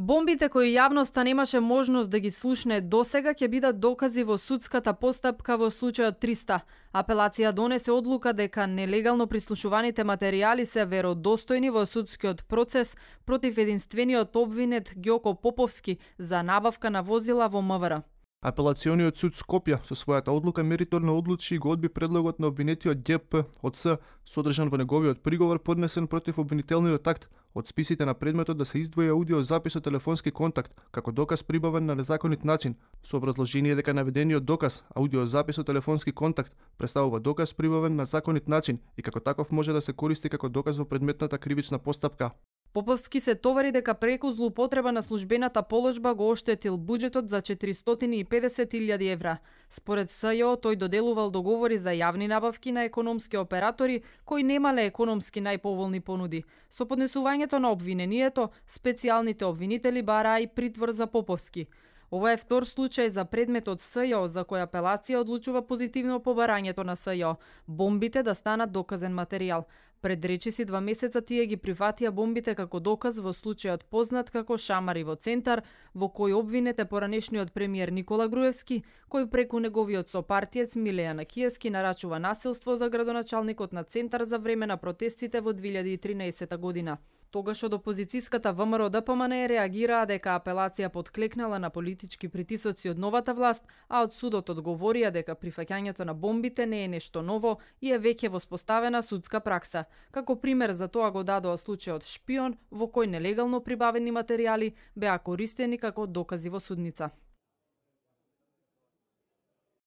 Бомбите кои јавноста немаше можност да ги слушне досега ќе бидат докази во судската постапка во случајот 300. Апелација донесе одлука дека нелегално прислушуваните материјали се веродостојни во судскиот процес против единствениот обвинет Ѓоко Поповски за набавка на возила во МВР. Апелациониот суд Скопје со својата одлука мериторно одлучи и го одби предлогот на обвинетиот ДП од С, содржан во неговиот приговор поднесен против обвинителниот акт од списите на предметот да се издвои аудиозапис од телефонски контакт како доказ прибавен на незаконит начин, со образложение дека наведениот доказ, аудиозапис од телефонски контакт, представува доказ прибавен на законит начин и како таков може да се користи како доказ во предметната кривична постапка. Поповски се товари дека преку злоупотреба на службената положба го оштетил буџетот за 450.000 евра. Според СЈО, тој доделувал договори за јавни набавки на економски оператори кои немале економски најповолни понуди. Со поднесувањето на обвинението, специјалните обвинители бараа и притвор за Поповски. Ова е втор случај за предметот СЈО за која апелација одлучува позитивно по барањето на СЈО, бомбите да станат доказен материјал. Пред речиси 2 месеца тие ги прифатија бомбите како доказ во случајот познат како Шамари во Центар, во кој обвинет е поранешниот премиер Никола Груевски, кој преку неговиот сопартиец Милејана Киевски нарачува насилство за градоначалникот на Центар за време на протестите во 2013 година. Тогаш од опозицијската ВМРО ДПМН реагираа дека апелација подклекнала на политички притисоци од новата власт, а од судот одговорија дека прифаќањето на бомбите не е нешто ново и е веќе воспоставена судска пракса. Како пример за тоа го дадоа случајот Шпион, во кој нелегално прибавени материјали беа користени како докази во судница.